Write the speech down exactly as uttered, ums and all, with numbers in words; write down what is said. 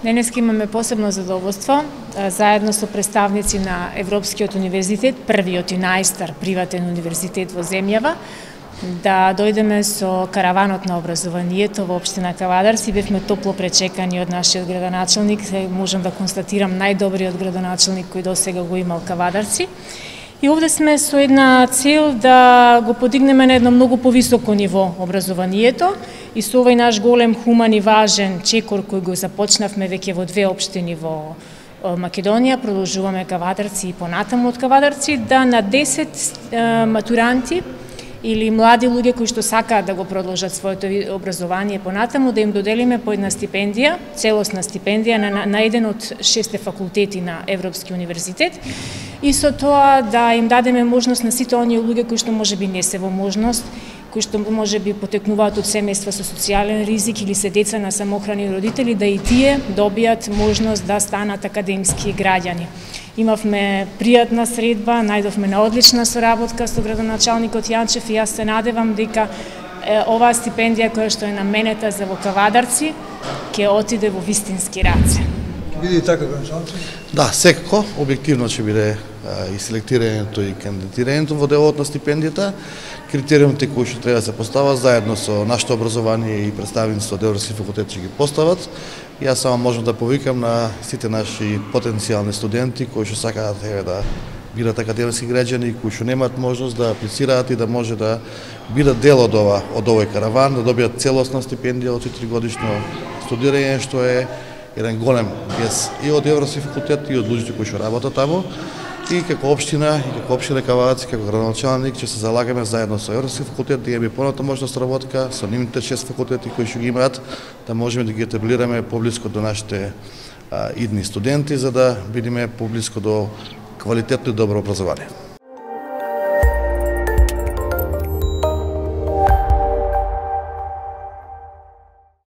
Денеска имаме посебно задоволство, заедно со представници на Европскиот универзитет, првиот и најстар приватен универзитет во земјава, да дојдеме со караванот на образованието во општина Кавадарци. Бевме топло пречекани од нашиот градоначелник, можам да констатирам најдобриот градоначелник кој досега го имал Кавадарци. И овде сме со една цел да го подигнеме на едно многу повисоко ниво образованието и со овој наш голем хуман и важен чекор кој го започнавме веќе во две општини во Македонија, продолжуваме Кавадарци и понатаму од Кавадарци, да на десет матуранти или млади луѓе кои што сакаат да го продолжат своето образование понатаму, да им доделиме по една стипендија, целосна стипендија на, на еден од шесте факултети на Европски универзитет, и со тоа да им дадеме можност на сите оние луѓе кои што можеби не се во можност, кои што можеби потекнуваат од семејства со социјален ризик или се деца на самохрани родители, да и тие добијат можност да станат академски граѓани. Имавме пријатна средба, најдовме на одлична соработка со градоначалникот Јанчев и јас се надевам дека е, оваа стипендија која што е наменета за во Кавадарци ќе отиде во вистински раце. Биде и така, градоначалник? Да, секако, објективно ќе биде и селектирањето и кандидатирањето во делот на стипендијата. Критериумите кои што треба да се постават заедно со нашето образование и представниците од Европски факултет ќе ги постават. Јас само можам да повикам на сите наши потенцијални студенти кои што сакаат да бидат академски граѓани, кои што немаат можност да аплицираат и да може да бидат дел од ова од овој караван, да добијат целосна стипендија од четири годишно студирање, што е еден голем гес и од Европски факултет и од луѓето кои што работат таму. И како општина, и како општина Кавадарци, како градоначалник, ќе се залагаме заедно со Европски факултет да имаме поната можност работка со нивните шест факултети кои што ги имаат, да можеме да ги етаблираме поблиско до нашите а, идни студенти, за да бидеме поблиско до квалитетно и добро образование.